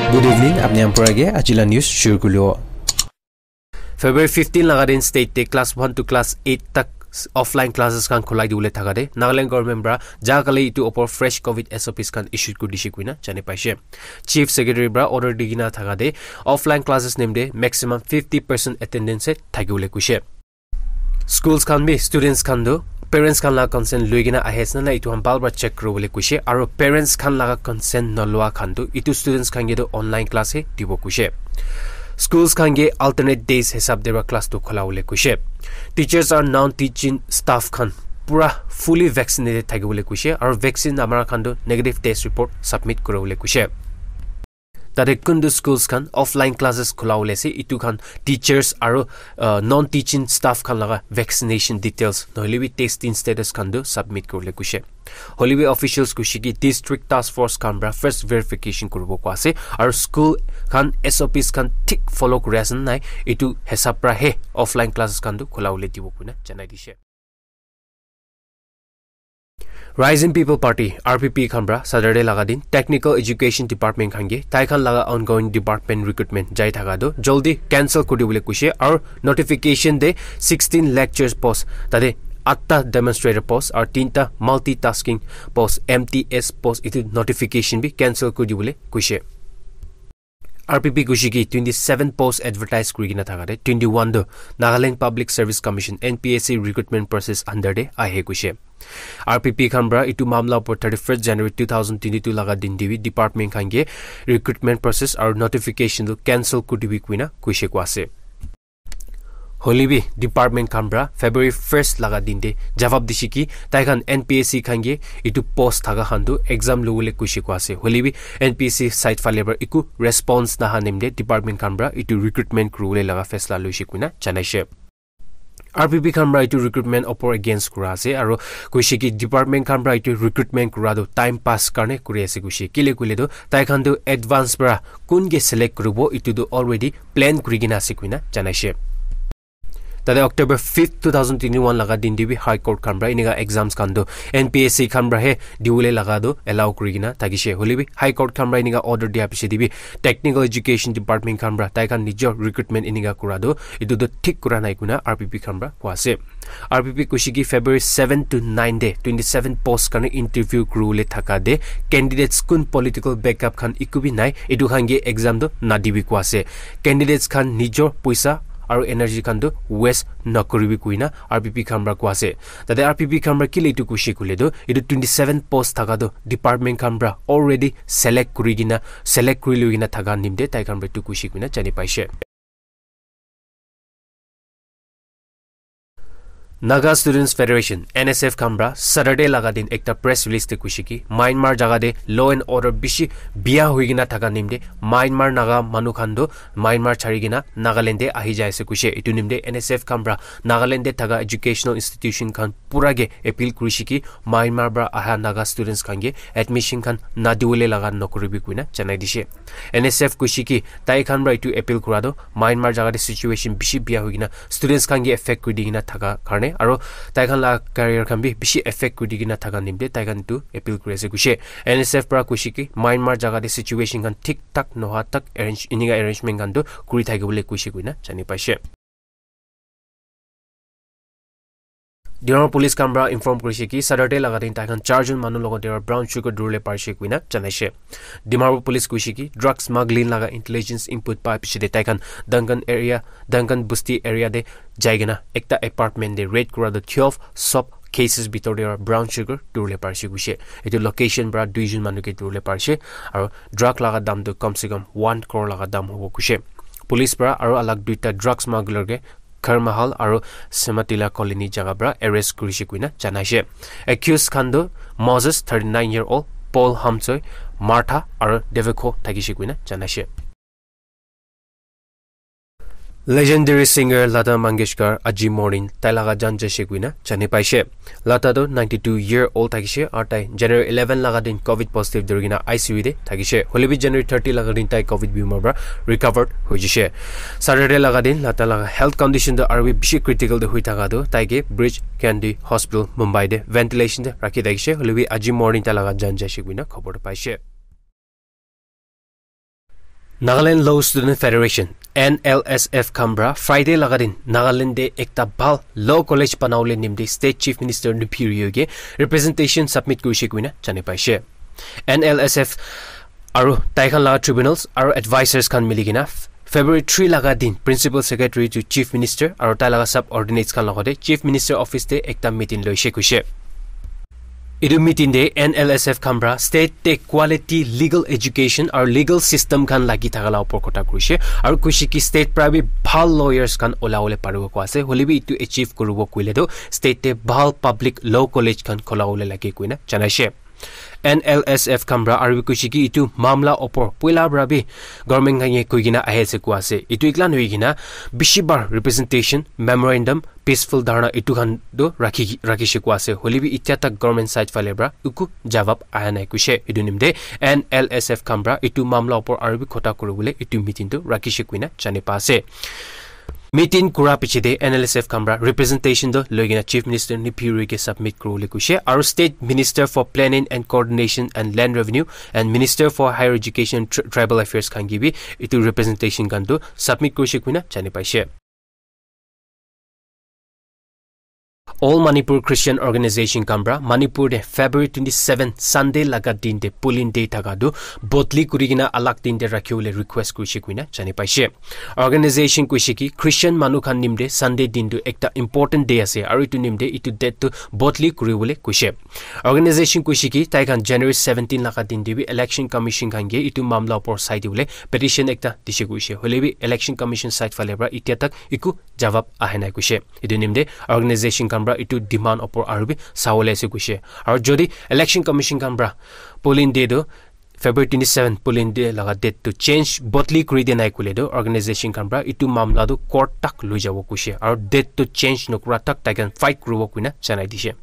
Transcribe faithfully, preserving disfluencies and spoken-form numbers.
Good evening, apni khan pura ke aji la news shuru kuribo. February fifteen laga din state te class one to class eight tak offline classes khan khulai dibole thaka de Nagaland government para ja kali itu opor fresh covid S O Ps khan issue kuri dise kuina jani paise. Chief Secretary para order di kena thaka de offline classes nimde maximum fifty percent attendance he thakibole kuise. Schools khan bi students khan tu parents khan la consent lui kena ahi ase na nai itu khan bhal para check kuribole kuise, aro parents khan laga consent nalua khan tu itu students khan ke tu online class he dibo kuise. Schools khan ke alternate days hisab de para class tu khula bole kuise. Teachers aru non teaching staff khan pura fully vaccinated thakibole kuise, aro vaccine amara khan tu negative test report submit kuribole kuise. Tate kuntu schools khan offline classes khula bole ase, itu khan teachers aru, uh, non teaching staff khan laga vaccination details nohole bi testing status khan tu submit kuribole kuise. Hoile bi officials kuise ki district task force khan para first verification kuribo koi ase, aru school khan S O Ps khan thik follow kuri ase na nai, itu hisab para he offline classes khan tu khula bole dibo kuina janai dise. Rising People Party, R P P khan para Saturday laga din Technical Education Department khan ke tai khan laga ongoing department recruitment jai thaka tu jaldi cancel kuri dibole kuise, aru notification de sixteen lecturers post, tate atta demonstrator post aru tinta multitasking post, M T S post, itu notification bi cancel kuri dibole kuise. R P P kuise ki twenty seven post advertise kuri kena thaka de twenty one tu Nagaland Public Service Commission, N P S C, recruitment process under de ahe kuise. R P P khan para itu mamla upor thirty first January two thousand twenty two laga din de bi department khan ke recruitment process aru notification tu cancel kuri dibi kuina kuise koi ase. Hoile bi department khan para February first laga din de jawab dise ki tai khan N P S C khan ke itu post thaka khan tu exam lobole kuise koi ase. Hoile bi N P S C side phale para eku response naha nimde department khan para itu recruitment kuribole laga faisla loise kuina janaise. R P P khan para itu recruitment opor against kura ase, aru kuise ki department khan para itu recruitment kura tu time pass karne kuri ase kuise. Kile koile tu tai khan tu advance para kun ke select kuribo itu tu already plan kuri kena ase kuina janaise. Tate October fifth, two thousand twenty one laga din de bi High Court khan para enika exams khan tu N P S C khan para he dibole laga tu allow kuri kena thakise. Hoile bi High Court khan para enika order dia piche de bi Technical Education Department khan para tai khan nijor recruitment enika kura tu itu tu thik kura nai kuina R P P khan para koi ase. R P P kuise ki February seven to nine de twenty seven post karne interview kuribole thaka de candidates kun political backup khan eku bi nai, itu khan ke exam tu nadibi koi ase. Candidates khan nijor poisa aru energy khan tu waste nakuribi kuina R P P khan para koi ase. Tate R P P khan para kile itu kuise koile tu itu twenty seven post thaka tu department khan para already select kuri kena, select kuri lui kena thaka nimde tai khan para itu kuise kuina jani paise. Naga Students Federation, N S F khan para Saturday laga din ekta press release de kuise ki Myanmar jaga de law and order bishi bia hoi kena thaka nimde Myanmar Naga manu khan tu Myanmar chari kena Nagaland de ahi jai ase kuise. Itu nimde N S F khan para Nagaland de thaka educational institution khan pura ke appeal kurise ki Myanmar para aha Naga students khan ke admission khan nadibole laga nakuribi kuina janai dise. N S F kuise ki tai khan para itu appeal kura tu Myanmar jaga de situation bishi bia hoi kena students khan ke affect kuri di kena thaka karne aru tai khan la career khan bi bishi affect kuri di kena thaka nimde tai khan itu appeal kuri ase kuise. N S F para kuise ki Myanmar jaga de situation khan thik thak noha tak arrange, enika arrangement khan tu kuri thakibole kuise kuina jani paise. Dimapur police khan para inform kurise ki Saturday laga din tai khan char jon manu logot te brown sugar duribole parise kuina janaise. Dimapur police kuise ki drug smuggling laga intelligence input pa piche de tai khan Duncan area, Duncan Busti area de jai kena ekta apartment de raid kura tu twelve sub cases bitor de brown sugar duribole parise kuise. Itu location para dui jon manu ke duribole parise aru drug laga dam tu kam se kam one crore laga dam hobo kuise. Police para aru alag duita drug smuggler ke Kharmahal aru Sematila Colony jaga para arrest kurise kuina janaise. Accused khan tu Moses, thirty nine year old, Paul Hamchoi, Martha aru Deveko thakise kuina janaise. Legendary singer Lata Mangeshkar aji morning tai laga jan jaise kuina jani paise. Lata tu ninety two year old thakise aru tai January eleven laga din covid positive duri kena I C U de thakise. Hoile bi January thirty laga din tai covid bimar para recovered hoi jise. Saturday laga din Lata laga health condition tu aru bi bishi critical de hoi thaka tu tai ke Breach Candy Hospital Mumbai de ventilation de rakhi thakise. Hoile bi aji morning tai laga jan jaise kuina khobor paise. Nagaland Law Student Federation, N L S F khan pra Friday laga din Nagaland te ekta bhal law college banawole nimti State Chief Minister Neiphiu Rio ke representation submit kurishe koina jani paishe. N L S F aru tai khan laga tribunals aru advisors khan mili kena February three laga din Principal Secretary to Chief Minister aru tai laga subordinates khan logate Chief Minister office te ekta meeting loishe kuishe. Etu meeting te N L S F khan pra state te quality legal education aru legal system khan lagi thaka la upor kotha kurishe aru kuishe ki state pra bi bhal lawyers khan olawole paribo koi ase, hoile bi etu achieve kuribo koile toh state te bhal public law college khan kholawole lage koina janaishe. N L S F khan pra aru bi kuishe ki etu mamla opor puila pra bi government khan ye koi kena ahi ase koi ase. Etu ekla nohoi kena bishi bar representation memorandum peaceful dharna etu khan toh rakhi, rakhishe koi ase. Hoile bi itya tak government side phale pra eku jawab aha nai kuishe. Etu nimte N L S F khan pra etu mamla opor aru bi kotha kuribole etu meeting toh rakhishe koina jani pa ase. Meeting kura piche te N L S F khan pra representation toh loi kena Chief Minister Neiphiu Rio ke submit kuribole kuishe. Aru State Minister for Planning and Coordination and Land Revenue and Minister for Higher Education, Tri-, Tribal Affairs khan ke bi etu representation khan toh submit kurishe koina jani paishe. All Manipur Christian Organization khan pra Manipur te February twenty-seven Sunday laga din te polling day thaka toh bodli kuri kena alag din te rakhiwole request kurishe koina jani paishe. Organization kuishe ki Christian manu khan nimte Sunday din toh ekta important day ase aru etu nimte etu date toh bodli kuribole kuishe. Organization kuishe ki tai khan January seventeen laga din te bi Election Commission khan ke etu mamla opor sai dibole petition ekta dishe kuishe. Hoile bi Election Commission side phale pra itya tak eku jawab aha nai kuishe. Etu nimte organization khan pra etu demand opor aru bi sawole ase kuishe. Aru jodi Election Commission khan pra polling day toh February twenty-seven polling day laga date toh change bodli kuri dia nai koile toh organization khan pra etu mamla toh court tak loi jabo kuishe. Aru date toh change nokura tak tai khan fight kuribo koina janai dishe.